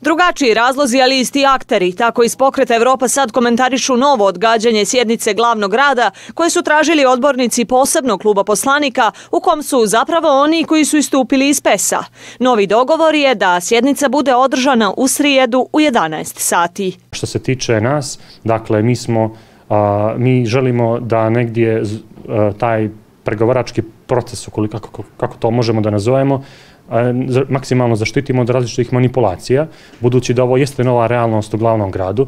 Drugačiji razlozi, ali isti akteri. Tako iz Pokreta Evropa sad komentarišu novo odgađanje sjednice glavnog grada koje su tražili odbornici posebnog kluba poslanika u kom su zapravo oni koji su istupili iz PES-a. Novi dogovor je da sjednica bude održana u srijedu u 11 sati. Što se tiče nas, dakle mi želimo da negdje taj pregovarački proces, kako to možemo da nazovemo, maksimalno zaštitimo od različitih manipulacija, budući da ovo jeste nova realnost u glavnom gradu.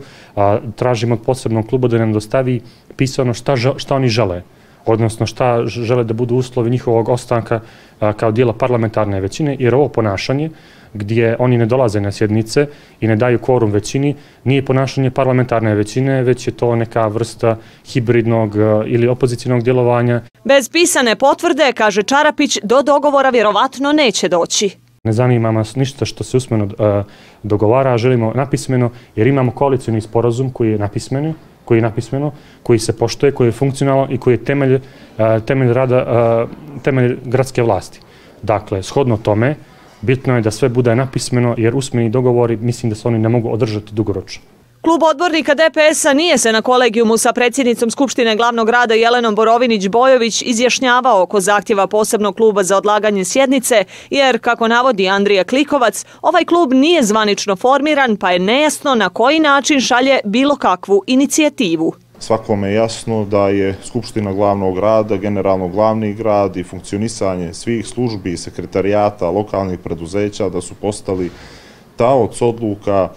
Tražimo od posebnog kluba da nam dostavi pisano šta oni žele, odnosno šta žele da budu uslovi njihovog ostanka kao dijela parlamentarne većine, jer ovo ponašanje gdje oni ne dolaze na sjednice i ne daju kvorum većini, nije ponašanje parlamentarne većine, već je to neka vrsta hibridnog ili opozicijnog djelovanja. Bez pisane potvrde, kaže Čarapić, do dogovora vjerovatno neće doći. Ne zanima nas ništa što se usmeno dogovara, želimo napismeno, jer imamo koalicijni sporazum koji je napismeno, koji se poštuje, koji je funkcionalan i koji je temelj rada, temelj gradske vlasti. Dakle, shodno tome, bitno je da sve bude napismeno, jer usmeni dogovori mislim da se oni ne mogu održati dugoročno. Klub odbornika DPS-a nije se na kolegijumu sa predsjednicom Skupštine glavnog grada Jelenom Borovinć-Bojović izjašnjavao oko zahtjeva posebnog kluba za odlaganje sjednice, jer, kako navodi Andrija Klikovac, ovaj klub nije zvanično formiran, pa je nejasno na koji način šalje bilo kakvu inicijativu. Svakome je jasno da je Skupština glavnog grada, generalno glavni grad i funkcionisanje svih službi i sekretarijata lokalnih preduzeća da su postali taoc odluka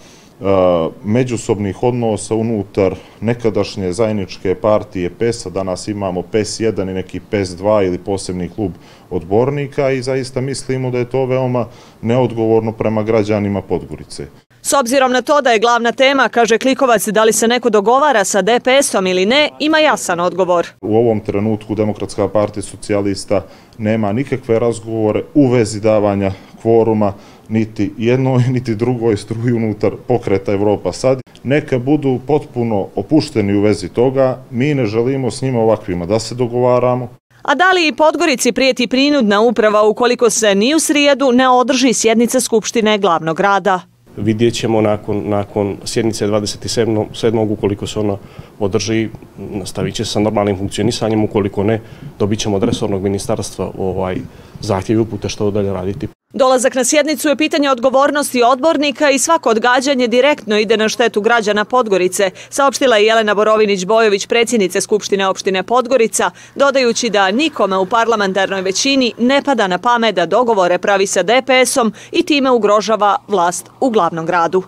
međusobnih odnosa unutar nekadašnje zajedničke partije PES-a. Danas imamo PES 1 i neki PES 2 ili posebni klub odbornika i zaista mislimo da je to veoma neodgovorno prema građanima Podgorice. S obzirom na to da je glavna tema, kaže Klikovac, da li se neko dogovara sa DPS-om ili ne, ima jasan odgovor. U ovom trenutku Demokratska partija socijalista nema nikakve razgovore u vezi davanja kvoruma niti jednoj, niti drugoj struji unutar Pokreta Evropa sad. Neka budu potpuno opušteni u vezi toga, mi ne želimo s njima ovakvima da se dogovaramo. A da li i Podgorici prijeti prinudna uprava ukoliko se ni u srijedu ne održi sjednica Skupštine glavnog grada? Vidjet ćemo nakon sjednice 27. ukoliko se ona održi, nastavit će se sa normalnim funkcionisanjem, ukoliko ne, dobit ćemo od resornog ministarstva zahtjev i upute što dalje raditi. Dolazak na sjednicu je pitanje odgovornosti odbornika i svako odgađanje direktno ide na štetu građana Podgorice, saopštila je Jelena Borovinć-Bojović, predsjednice Skupštine opštine Podgorica, dodajući da nikome u parlamentarnoj većini ne pada na pamet da dogovore pravi sa DPS-om i time ugrožava vlast u glavnom gradu.